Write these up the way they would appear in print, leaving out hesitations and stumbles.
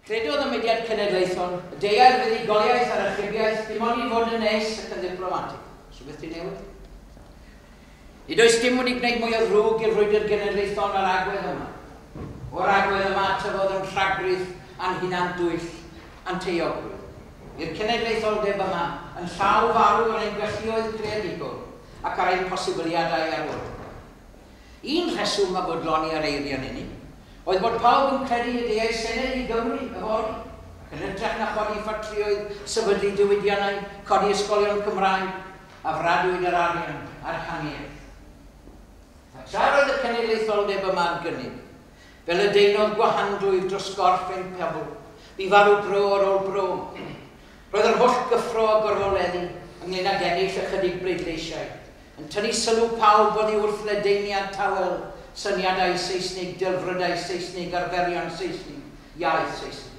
Credodd y mudiad cenedlaethol, y deuai'r fuddugoliaeth a'r achubiaeth dim ond i fod yn nes ac yn ddiplomatig. Rhywbeth di newid? Nid oes dim wedi gwneud mwy o ddrwg i'r frwydr genedlaethol na'r agwedd yma. O'r agwedd yma tyfodd yn rhagrith a'n hunan dwyll a'n taeogrwydd. I'r cenedlaetholdeb yma yn llaw farw ar ein galluoedd creadigol ac ar ein posibiliadau arwrol. Un rheswm a bodloni ar eiriau'n unig oedd bod pawb yn credu y deuai Senedd i Gymru yfory, ac yn hytrach na chodi ffatrïoedd, sefydlu diwydiannau, codi ysgolion Cymraeg, a fradwyd yr arian a'r haniaeth. A tra roedd y cenedlaetholdeb yma ar gynnig, fel y deunodd gwahanglwyf dros gorff ein pobl, bu farw bro ar ôl bro. Roedd yr holl gyffro a gorfoleddu ynglŷn ag ennill ychydig bleidleisiau yn tynnu sylw pawb oddi wrth ledaeniad tawel syniadau Seisnig, delfrydau Seisnig, arferion Seisnig, iaith Seisnig.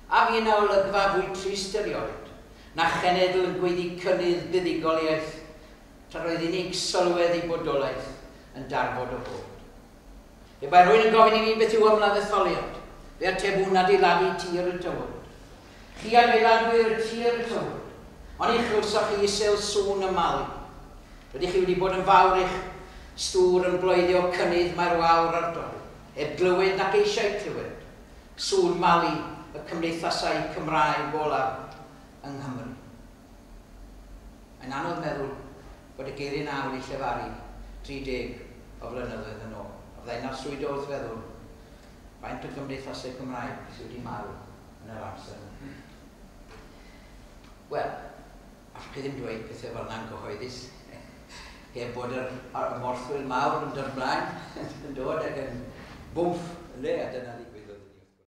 A fu yna olygfa fwy trist erioed, na chenedl yn gweiddi cynnydd buddugoliaeth, tra roedd unig sylwedd ei bodolaeth yn darfod o fod. Pe bai rhywun yn gofyn i mi beth yw ymladd etholiad, fe atebwn adeiladu tir y tywod. Chi adeiladwyr y tir y tywod, ond ni chlywsoch chi isel sŵn y malu. Rydych chi wedi bod yn fawr eich stŵr yn bloeddio cynnydd mae'r wawr ar dorri, heb glywed nac eisiau clywed sŵn malu y cymdeithasau Cymraeg olaf yng Nghymru. Mae'n anodd meddwl bod y geiriau 'na wedi llefaru 30 o flynyddoedd yn ôl. A fyddai'n arswydo wrth feddwl faint o gymdeithasau Cymraeg sydd wedi marw yn yr amser yna. Wel, allwch chi ddim dweud pethau fel yna'n gyhoeddus, heb bod yr morthwyl mawr yn dod ymlaen, yn dod ac yn bwmff, ynde, a dyna ni.